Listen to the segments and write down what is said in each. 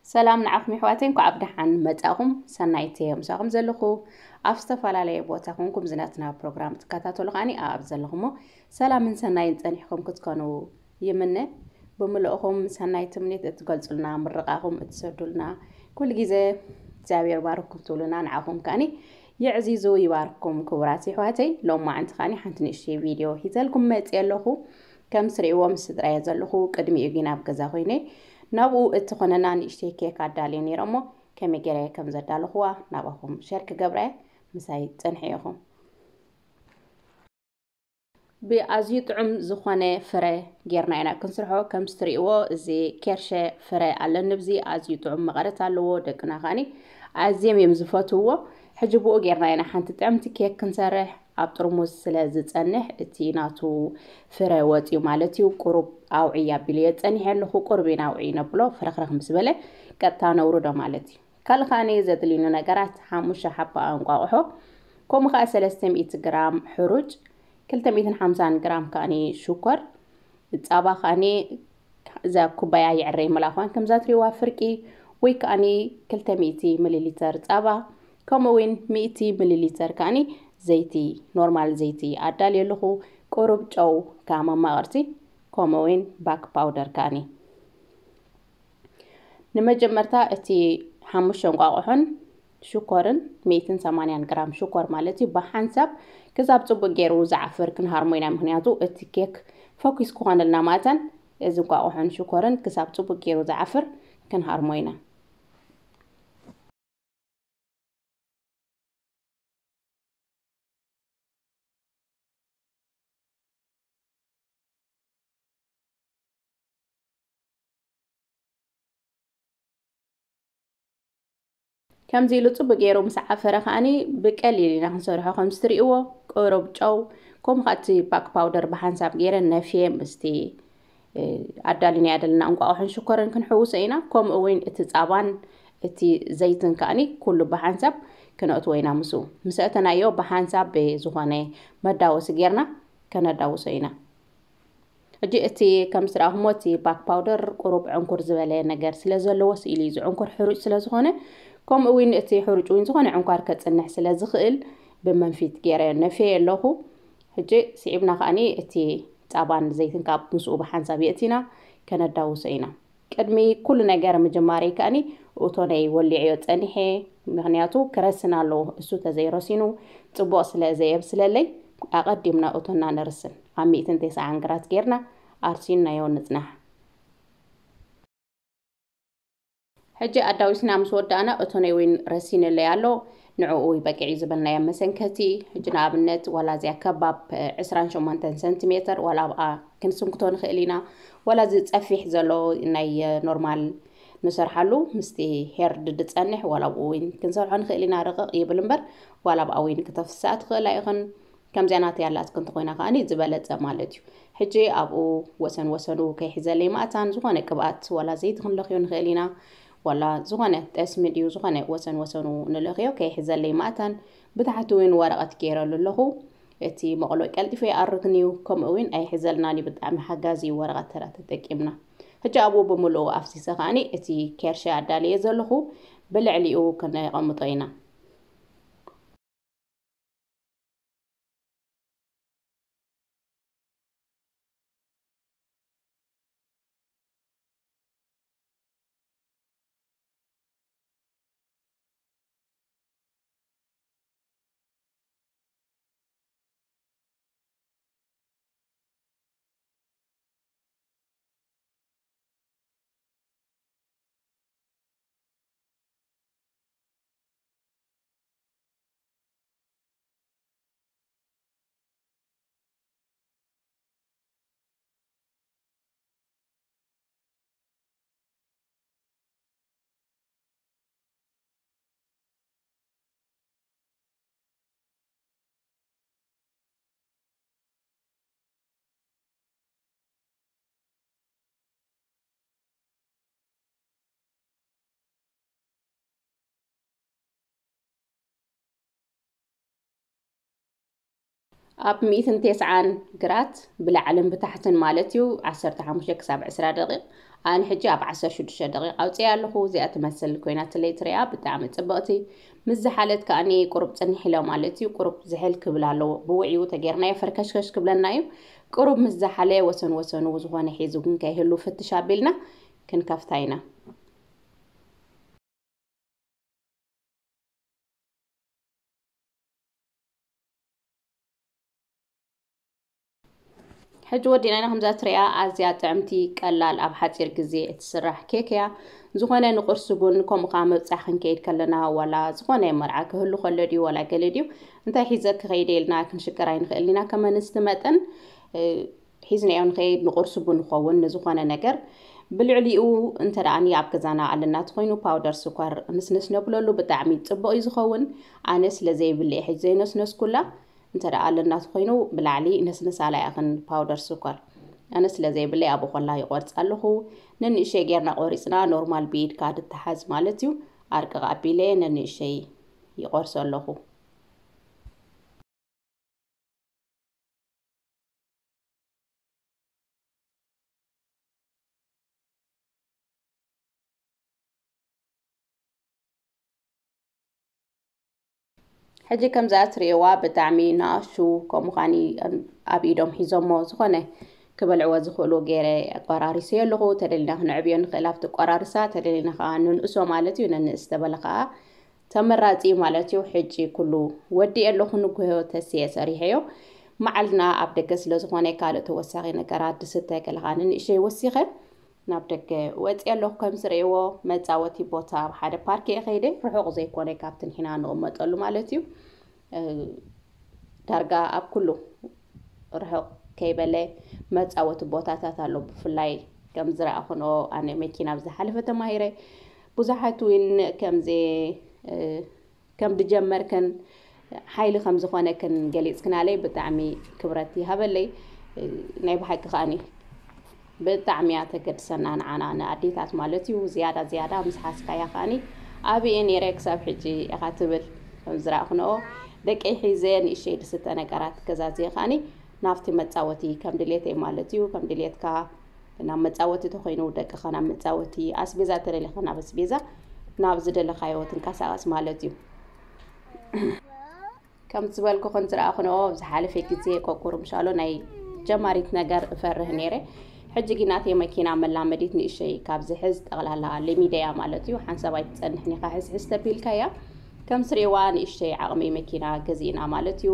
ሰላም ንዓኹም የሕዋተይ፣ እንኳዕ ብደሓን መጻኹም። ሰናይት እየ ምሳኹም ዘለኹ። ኣብ ዝተፈላለየ ቦታ ኮንኩም ዝነትና ፕሮግራም ትከታተሉ ከኣኒ ኣብ ዘለኹሞ ሰላምን ሰናይን ጸኒሕኩም ክትኮኑ ይምነ። ብምልእኹም ሰናይ ትምኒት እትገልጹልና፣ ምርቓኹም እትሰዱልና፣ ኩሉ ግዜ እግዚኣብሔር ባርኩም ትብሉና፣ ንዓኹም ከኣኒ የዕዚዙ ይባርኩም። ክቡራት የሕዋተይ፣ ሎማዓንቲ ከኣኒ ሓንቲ ንእሽተይ ቪድዮ ሂዘልኩም መጽየ ኣለኹ። ከም ትርእይዎ ምስ ስድራየ ዘለኹ፣ ቅድሚኡ ግን ኣብ ገዛ ኮይነ ናብኡ እትኾነና ንእሽተይ ኬክ ኣዳልየ ነይረ እሞ፣ ከመይ ገይረ ከም ዘዳለኹዋ ናባኹም ሸር ክገብረ ምሳይ ጽንሑ ኢኹም። ብኣዝዩ ጥዑም ዝኾነ ፍረ ጌርና ኢና ክንስርሖ። ከም ትርእይዎ፣ እዚ ኬርሸ ፍረ ኣለኒ። ብዚ ኣዝዩ ጥዑም መቐረት ኣለዎ። ደቅና ከኣኒ ኣዝዮም እዮም ዝፈትውዎ። ሕጂ ብኡ ጌርና ኢና ሓንቲ ጥዕምቲ ኬክ ክንሰርሕ። ኣብ ጥርሙዝ ስለ ዝጸንሕ፣ እቲ ናቱ ፍረ ወጺኡ ማለት እዩ። ቁሩብ ኣውዕይ ኣቢለዮ ጸኒሐ ኣለኹ። ቁሩብ ኢና ኣውዕይ ነብሎ፣ ፍረኽረኽ ምስ በለ ቀጥታ ነውርዶ ማለት እዩ። ካልእ ከኣኒ ዘድልዩኒ ነገራት፣ ሓሙሽተ ሓባ እንቋቑሖ፣ ከምኡ ከኣ ሰለስተ ሚእቲ ግራም ሕሩጭ፣ ክልተ ሚእትን ሓምሳን ግራም ከኣኒ ሽኮር፣ ጻባ ከኣኒ እዛ ኩባያ ይዕረይ መላኳን ከምዛ ትሪዋ ፍርቂ ወይ ከኣኒ ክልተ ሚእቲ ሚሊ ሊተር ጻባ፣ ከምኡ እውን ሚእቲ ሚሊ ሊተር ከኣኒ ዘይቲ፣ ኖርማል ዘይቲ ኣዳልየ ኣለኹ። ቁሩብ ጨው ከኣ መማቕርቲ፣ ከምኡ እውን ባክ ፓውደር ከኣኒ። ንመጀመርታ እቲ ሓሙሽተ እንቋቑሖን ሽኮርን፣ ሚእትን ሰማንያን ግራም ሽኮር ማለት እዩ፣ ብሓንሳብ ክሳብ ጽቡቕ ገይሩ ዝዓፍር ክንሃርሞ ኢና። ምኽንያቱ እቲ ኬክ ፈኲስ ክኾነልና ማእታን፣ እዚ እንቋቑሖን ሽኮርን ክሳብ ጽቡቕ ገይሩ ዝዓፍር ክንሃርሞ ኢና። ከምዚ ኢሉ ጽቡቕ ገይሩ ምስ ዓፈረ ከኣኒ ብቀሊል ኢና ክንሰርሖ። ከም ትርእይዎ፣ ቁሩብ ጨው፣ ከምኡ ከኣ እቲ ባክ ፓውደር ብሓንሳብ ገይረ ነፍየ ምስቲ፣ እ፣ ኣዳሊናዮ ዘለና እንቋቑሖን ሽኮርን ክንሕውሶ ኢና። ከምኡ እውን እቲ ጻባን እቲ ዘይትን ከኣኒ ኩሉ ብሓንሳብ ክነእትዎ ኢና ምስኡ። ምስ ኣእተናዮ ብሓንሳብ ብዝኾነ መዳወሲ ገይርና ከነዳውሶ ኢና። ሕጂ እቲ ከም ዝረኣኹሞ እቲ ባክ ፓውደር ቁሩብ ዕንኩር ዝበለ ነገር ስለ ዘለዎ፣ ስኢሉ እዩ ዝዕንኩር፣ ሕሩጭ ስለ ዝኾነ፣ ከምኡ እውን እቲ ሕሩጭ እውን ዝኾነ ዕንኳር ከጽንሕ ስለ ዝኽእል ብመንፊት ገይረ ነፍየ ኣለኹ። ሕጂ ስዒብና ከኣኒ እቲ ጻባን ዘይትን ካብ ምስኡ ብሓንሳብ የእቲና ከነዳውሶ ኢና። ቅድሚ ኩሉ ነገር ምጅማረይ ከኣኒ ኦቶነይ ወሊዐዮ ጸኒሐ፣ ምኽንያቱ ክረስን ኣለዎ። እሱ ተዘይረሲኑ ጽቡቕ ስለ ዘየብስለለይ፣ ኣቐዲምና ኦቶና ነርስን። ኣብ ሚእትን ተስዓን ግራት ጌርና ኣርሲንናዮ ንጽናሕ። ሕጂ ኣዳዊስና ምስ ወዳእና፣ ኦቶነይ እውን ረሲንለይ ኣሎ። ንዕኡ በቂዕ እዩ ዝበልናዮ መሰንከቲ። ሕጂ ንኣብነት፣ ዋላ እዚኣ ከባብ ዕስራን ሸሞንተን ሰንቲሜተር፣ ዋላ ኣብኣ ክንስንክቶ ንኽእል ኢና። ዋላ እዚ ጸፊሕ ዘሎ ናይ ኖርማል ንሰርሓሉ፣ ምስቲ ሄርድ ዝጸንሕ፣ ዋላ ኣብኡ እውን ክንሰርሖ ንኽእል ኢና። ርቕቕ ይብል እምበር፣ ዋላ ኣብኣ እውን ክተፍስሳ ትኽእላ ኢኽን። ከምዚኣ ናተይ ኣላትክን እንተኾይና ከኣኒ ዝበለጸ ማለት እዩ። ሕጂ ኣብኡ ወሰን ወሰኑ ከይሕዘለይ ማእታን ዝኾነ ቅብኣት ዋላ ዘይቲ ክንለኽዮ ንኽእል ኢና። ዋላ ዝኾነ ጠስሚ ድዩ ዝኾነ ወሰን ወሰኑ ንለኽዮ ከይሕዘለይ ማእታን ብታሕቲ እውን ወረቐት ገይረሉ ኣለኹ። እቲ መቕሎ ቀልጢፉ ይኣርግን እዩ፣ ከምኡ እውን ኣይሕዘልናን እዩ፣ ብጣዕሚ ሓጋዚ እዩ ወረቐት ተራ ተጠቂምና። ሕጂ ኣብኡ ብምልኡ ኣፍሲሰ ከኣኒ እቲ ኬርሸ ኣዳልየ ዘለኹ ብልዕሊኡ ከነቐምጦ ኢና። ኣብ ሚእትን ተስዓን ግራት ብላዕልን ብታሕትን ማለት እዩ፣ ዓሰርተ ሓሙሽተ ክሳብ ዕስራ ደቂቕ። ኣነ ሕጂ ኣብ ዓሰርተ ሽዱሽተ ደቂቕ ኣውፅኣ ኣለኹ። እዚኣ ትመስል ኮይናትለይ ትሪኣ፣ ብጣዕሚ ፅብቕቲ። ምስ ዝሓለት ከኣኒ ቁሩብ ፅንሕ ኢለ ማለት እዩ፣ ቁሩብ ዝሕል ክብል ኣለዎ። ብውዕዩ ተጌርናዮ ፈርከሽከሽ ክብለና እዩ። ቁሩብ ምስ ዝሓለ ወሰን ወሰኑ ዝኾነ ሒዙ ግን ከይህሉ ፍትሽ ኣቢልና ክንከፍታ ኢና። ሕጂ ወዲና ኢና። ከምዛ ትሪኣ ኣዝያ ጥዕምቲ፣ ቀላል፣ ኣብ ሓፂር ግዜ እትስራሕ ኬክ እያ። ዝኾነ ንቁርሲ ቡን፣ ከምኡ ከዓ ምብፃሕ ክንከይድ ከለና፣ ዋላ ዝኾነ መርዓ ክህሉ ከሎ ድዩ፣ ዋላ ገለ ድዩ፣ እንታይ ሒዘ ክኸይደ ኢልና ክንሽገር ኣይንኽእልን ኢና። ከም ኣንስቲ መጠን፣ እ፣ ሒዝናዮ ንኸይድ ንቁርሲ ቡን ንኸውን ንዝኾነ ነገር። ብልዕሊኡ እንተ ደኣኒ ኣብ ገዛና ኣለና ተኾይኑ ፓውደር ስኳር ንስንስ ነብለሉ ብጣዕሚ ጽቡቕ እዩ ዝኸውን። ኣነ ስለ ዘይብልዕ ሕጂ ዘይነስነስኩላ። እንተ ደኣ ኣለና ተኾይኑ ብላዕሊ ነስንሳላ ያኽን ፓውደር ስኳር። ኣነ ስለ ዘይብለይ ኣብኡ ኮላ ይቆርጽ ኣለኹ። ነንእሸይ ጌርና ቆሪጽና ኖርማል ብኢድካ ድተሓዝ ማለት እዩ። ኣርቅቕ ኣቢለ ነንእሸይ ይቆርሶ ኣለኹ። ሕጂ ከምዛ ትርእይዋ ብጣዕሚ ንኣሽቱ ከም ምዃኒ ኣብ ኢዶም ሒዞሞ ዝኾነ ክበልዕዎ ዝኽእሉ ገይረ ኣቆራሪሰዮ ኣለኹ። ተደሊና ክንዕብዮ ንኽእል ኣብቲ ቆራርሳ፣ ተደሊና ከዓ ንንእሶ ማለት እዩ። ነንእስ ተበለ ከዓ ተመራጺ ማለት እዩ። ሕጂ ኩሉ ወዲኤ ኣለኹ፣ ንግሆ ተስየ ሰሪሐዮ። መዓልና ኣብ ደገ ስለ ዝኾነ ካልእ ተወሳኺ ነገራት ድስተ ገለ ከዓ ንንእሸይ ወሲኸ ናብ ደገ ወፂአ ኣለኹ። ከም ዝርእይዎ መፃወቲ ቦታ ኣብ ሓደ ፓርክ እየ ከይደ፣ ርሑቕ ዘይኮነ ካብቲ ንሕና ንቕመጠሉ ማለት እዩ። እ፣ ዳርጋ ኣብ ኩሉ ርሑቕ ከይበለ መፃወቲ ቦታታት ኣሎ። ብፍላይ ከም ዝረኣኹንኦ ኣነ መኪና ኣብ ዝሓለፈ ተማሂረ። ብዙሓት እውን ከምዚ፣ እ፣ ከም ድጀመርክን ሓይሊ ከም ዝኾነክን ገሊፅክናለይ ብጣዕሚ ክብረት ይሃበለይ። ናይ ብሓቂ ከኣኒ ብጣዕሚ እያ ተገድሰና ንዓና ንኣዴታት ማለት እዩ። ዝያዳ ዝያዳ ምስ ሓዝካያ ከኣኒ ኣበይ እየ ነይረ ክሳብ ሕጂ ኢኻ ትብል። ከም ዝረኣኽንኦ ደቀይ ሒዘ ንእሸይ ድስተ ነገራት ገዛዝየ ከኣኒ ናብቲ መፃወቲ ከም ድሌተይ ማለት እዩ። ከም ድሌትካ ናብ መፃወቲ ተኾይኑ ደቅኻ ናብ መፃወቲ፣ ኣስቤዛ ተደሊኻ ናብ ኣስቤዛ፣ ናብ ዝደለኻዮ ትንቀሳቐስ ማለት እዩ። ከም ዝበልኩኽን ዝረኣኹንኦ ኣብ ዝሓለፈ ግዜ ቆቁር ምሻሎ ናይ ጀማሪት ነገር እፈርህ ነይረ። ሕጂ ግን ናተይ መኪና መላመዲት ንእሸይ ካብ ዝሕዝ ጠቕላላ ለሚደያ ማለት እዩ። ሓንሳብ ኣይትጸንሕን ኢኻ ሕስሕስ ተቢልካያ። ከም ስሪዋ ንእሽተይ ዓቕሚ መኪና ገዚእና ማለት እዩ።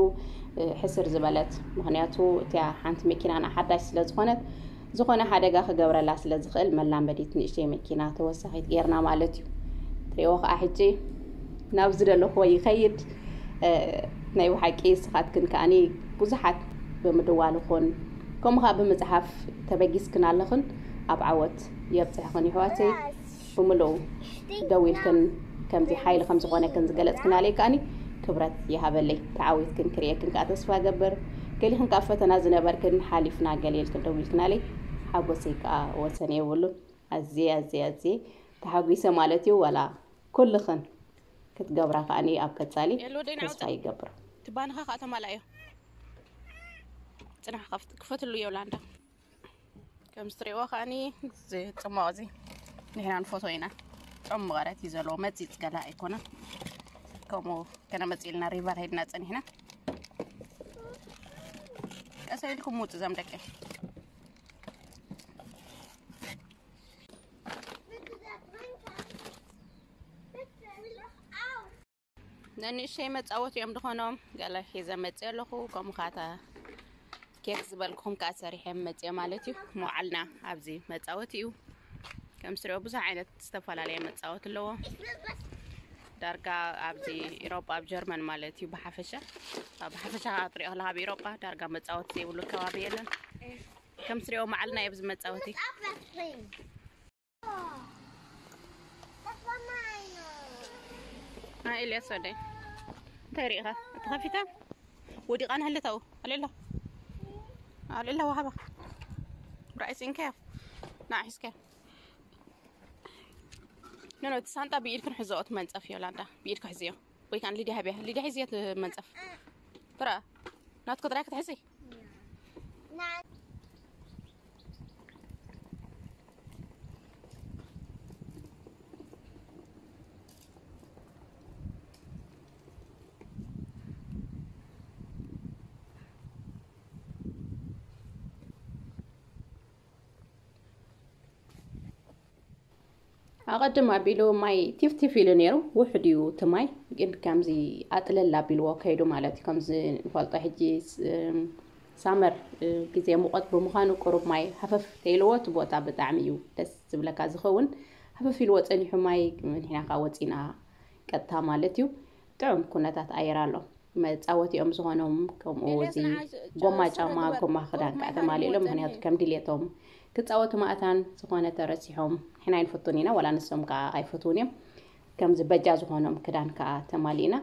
እ፣ ሕስር ዝበለት፣ ምኽንያቱ እቲያ ሓንቲ መኪናና ሓዳሽ ስለ ዝኾነት፣ ዝኾነ ሓደጋ ክገብረላ ስለ ዝኽእል መላመዲት ንእሽተይ መኪና ተወሳኺት ጌርና ማለት እዩ። ትሪእዎ ከዓ ሕጂ ናብ ዝደለኽዎ ይኸይድ። እ፣ ናይ ብሓቂ ንስኻትክን ከኣኒ ብዙሓት ብምድዋልኹን ከምኡ ከዓ ብምፅሓፍ ተበጊስክን ኣለኽን። ኣብ ዓወት የብፅሕኽን ይሕዋተይ። ብምልኡ ደዊልክን ከምዚ ሓይሊ ከም ዝኾነክን ዝገለፅክናለይ ከኣኒ ክብረት ይሃበለይ። ተዓዊትክን ክርእየክን ከዓ ተስፋ ገብር። ገሊኽን ከዓ ፈተና ዝነበርክን ሓሊፍና ገለ ኢልክን ደዊልክናለይ ሓጎሰይ ከዓ ወሰን የብሉን። ኣዝየ ኣዝየ ኣዝየ ተሓጒሰ ማለት እዩ። ዋላ ኩልኽን ክትገብራ ከኣኒ ኣብ ቀፃሊ የሉ ወደይ ንዓውታ ተስፋ ይገብር። ትባንኻ ከዓ ተማላእዮ። ፅናሕ ከፍት-፣ ክፈትሉ ዮላንዳ። ከም ዝትሪእዎ ከኣኒ እዚ ጽማቕ እዚ ንሕና ንፈትዎ ኢና። ጽሙቕ ኣረት እዩ ዘለዎ፣ መጺጽ ገላ ኣይኮነን። ከምኡ ከነመጽእ ኢልና ሪቨር ሄድና ጸኒሕና። ቀስ ኢልኩም ውጹ እዞም ደቂ። ነንእሽተይ መጻወቲ እዮም ዝኾኖም። ገለ ሒዘ መጽእ ኣለኹ። ከምኡ ኻታ ኬክ ዝበልኩኹም ከዓ ሰሪሐ መጽእ ማለት እዩ። መውዓልና ኣብዚ መጻወቲ እዩ። ከም ስሪኦ ብዙሕ ዓይነት ዝተፈላለየ መጻወቲ ኣለዎ። ዳርጋ ኣብዚ ኢሮጳ፣ ኣብ ጀርመን ማለት እዩ ብሓፈሻ። ኣብ ሓፈሻ ክትሪኦ ከለኻ ኣብ ኢሮጳ ዳርጋ መጻወቲ ዘይብሉ ከባቢ የለን። ከም ስሪኦ መዓልና እዩ ኣብዚ መጻወቲ። ኣይ፣ ኤልያስ ወደይ፣ እንታይ ርኢኻ? ተኸፊታ? ወዲቓ ንሃለታው። ኣሌላ። ኣሌላ፣ ወሃባ። ራእይ ሲንካዮ። ና፣ ሒዝካዮ። ኖ፣ ኖ፣ እቲ ሳንጣ ብኢድክን ሕዝኦ፣ እቲ መንጸፍ፣ ዮላንዳ። ብኢድካ ሕዝዮ። ወይ ከኣ ሊድያ ሃብያ። ሊድያ፣ ሕዝዮ፣ እቲ መንጸፍ። ትረኣ። ናትኮ ጥራይ ክትሕዚ። ኣቐድም ኣቢሉ ማይ ቲፍቲፍ ኢሉ ነይሩ፣ ውሑድ እዩ እቲ ማይ፣ ግን ከምዚ ኣጥለል ኣቢልዎ ከይዱ ማለት እዩ። ከምዚ ንፈልጦ ሕጂ ስ-፣ ሳመር፣ እ፣ ግዜ ሙቐት ብምዃኑ ቁሩብ ማይ ሃፈፍ ተይልዎ እቲ ቦታ ብጣዕሚ እዩ ደስ ዝብለካ ዝኸውን። ሃፈፍ ኢልዎ ጸኒሑ ማይ፣ ንሕና ከኣ ወጺና ቀጥታ ማለት እዩ። ጥዑም ኩነታት ኣየር ኣሎ። መጻወቲኦም ዝኾኖም፣ ከምኡ እዚ ጎማ ጫማ፣ ጎማ ክዳን ከኣ ተማሊእሎም፣ ምኽንያቱ ከም ድሌቶም ክጻወቱ መኣታን ዝኾነ ተረሲሖም፣ ንሕና ኣይንፈቱን ኢና፣ ዋላ ንሶም ከኣ ኣይፈትዉን እዮም። ከምዚ በጃ ዝኾኖም ክዳን ከኣ ተማሊእና፣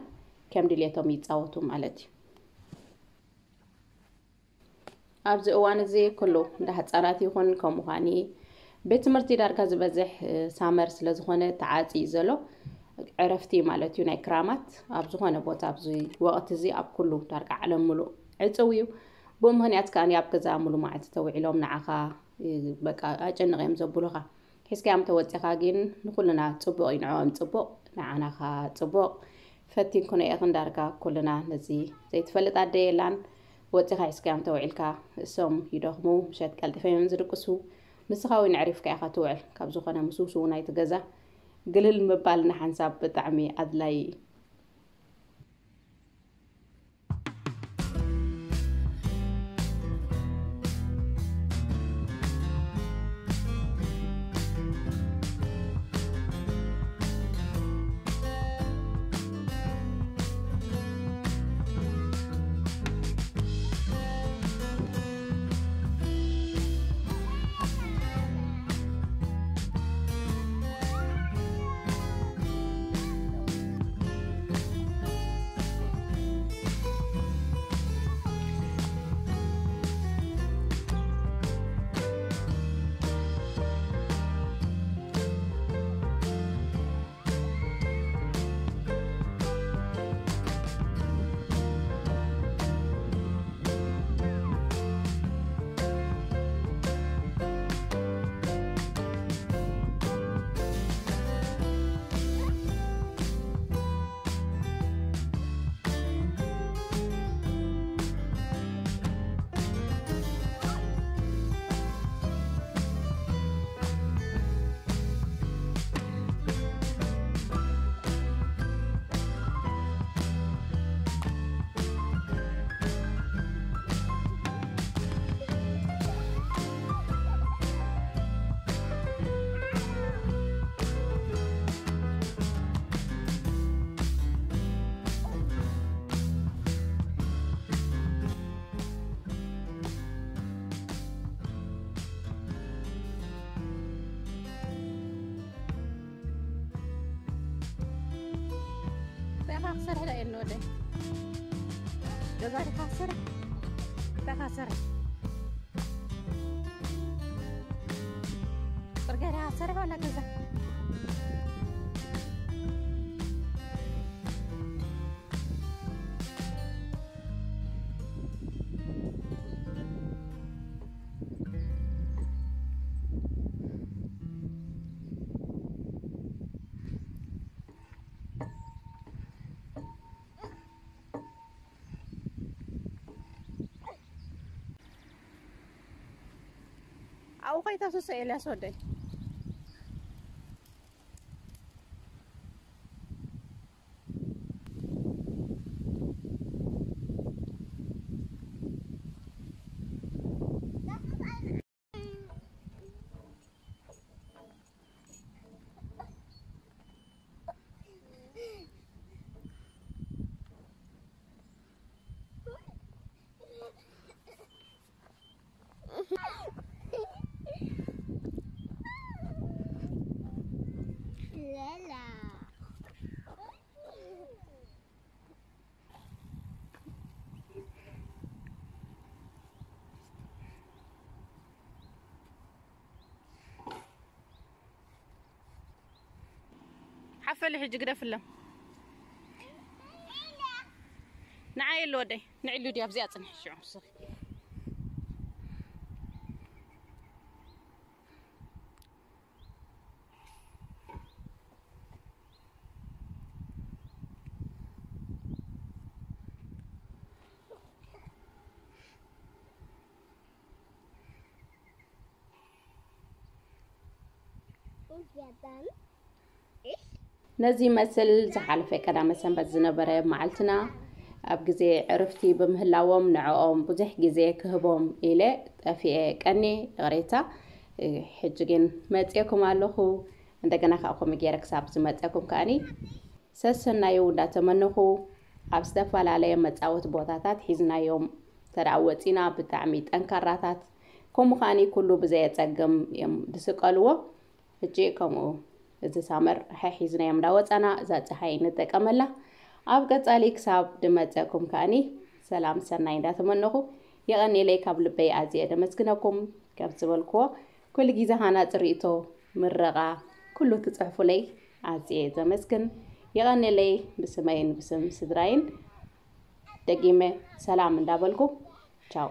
ከም ድሌቶም ይጻወቱ ማለት እዩ። ኣብዚ እዋን እዚ ኩሉ እንዳ ህጻናት ይኹን፣ ከምኡ ኻኒ ቤት ትምህርቲ ዳርጋ ዝበዝሕ፣ እ፣ ሳመር ስለ ዝኾነ ተዓጽዩ ዘሎ፣ ዕረፍቲ ማለት እዩ ናይ ክራማት። ኣብ ዝኾነ ቦታ ኣብዚ ወቕቲ እዚ ኣብ ኩሉ ዳርጋ ዓለም ሙሉእ ዕጽው እዩ። ብኡ ምኽንያት ከኣ ኣብ ገዛ ሙሉ መዓልቲ ተውዒሎም ንዓኻ፣ እ፣ በቃ ኣጨንቕ እዮም ዘብሉኻ። ሒዝካዮም ተወጺኻ ግን ንኹልና ጽቡቕ እዩ፣ ንዕኦም ጽቡቕ፣ ንዓና ኸኣ ጽቡቕ። ፈቲንክኖ ኢኽን ዳርጋ ኩልና። ነዚ ዘይትፈልጥ ኣደ የላን። ወጺኻ ሒዝካዮም ተውዒልካ፣ እሶም ይደኽሙ፣ ምሸት ቀልጢፎም እዮም ዝድቅሱ። ንስኻ እውን ኣዕሪፍካ ኢኻ ትውዕል። ካብ ዝኾነ ምስ ውስውናይ እቲ ገዛ ግልል ምባል ንሓንሳብ ብጣዕሚ ኣድላዪ እዩ። እንታይ ኢኻ ክሰርሕ ደኣ የለ ወደይ? ገዛ ዲኻ ክሰርሕ? እንታይ ኢኻ ክሰርሕ? ጽርግያ ዲኻ ክሰርሕ ዋላ ገዛ? ኣብኡ ከይታ ሱሰ ኤልያስ ወደይ። ሓፈሊ ሕጂ ግደፍሎም። ንዓይ የለ ወደይ ንዕሉ ድያ ኣብዚኣ ጽንሕ ሽዑ ስኺ። ነዚ መስል ዝሓለፈ ቀዳመ ሰንበት ዝነበረ መዓልትና ኣብ ግዜ ዕርፍቲ ብምህላዎም ንዕኦም ብዙሕ ግዜ ክህቦም ኢለ ጠፊኤ ቀኒ ይቕሬታ። ሕጂ ግን መፅኤኩም ኣለኹ። እንደገና ከዓ ከምኡ ገይረ ክሳብ ዝመፀኩም ከዓኒ ሰሰናዩ እንዳተመነኹ ኣብ ዝተፈላለየ መፃወቲ ቦታታት ሒዝናዮም ተደኣ ወፂና ብጣዕሚ ጠንካራታት ከምኡ ከዓኒ ኩሉ ብዘየፀግም እዮም ዝስቀልዎ። ሕጂ ከምኡ እዚ ሳመር ሒዝናዮም እንዳወፃና እዛ ፀሓይ ንጠቀመላ። ኣብ ቀፃሊ ክሳብ ድመፀኩም ከዓኒ ሰላም ሰናይ እንዳተመነኹ የቐኔለይ ካብ ልበይ ኣዝየ ደመስግነኩም። ከም ዝበልክዎ ኩሉ ግዜ ሃናፂ ርእቶ ምረቓ ኩሉ ትፅሕፉለይ ኣዝየ ዘመስግን። የቐኔለይ ብስመይን ብስም ስድራይን ደጊመ ሰላም እንዳበልኩ ቻው።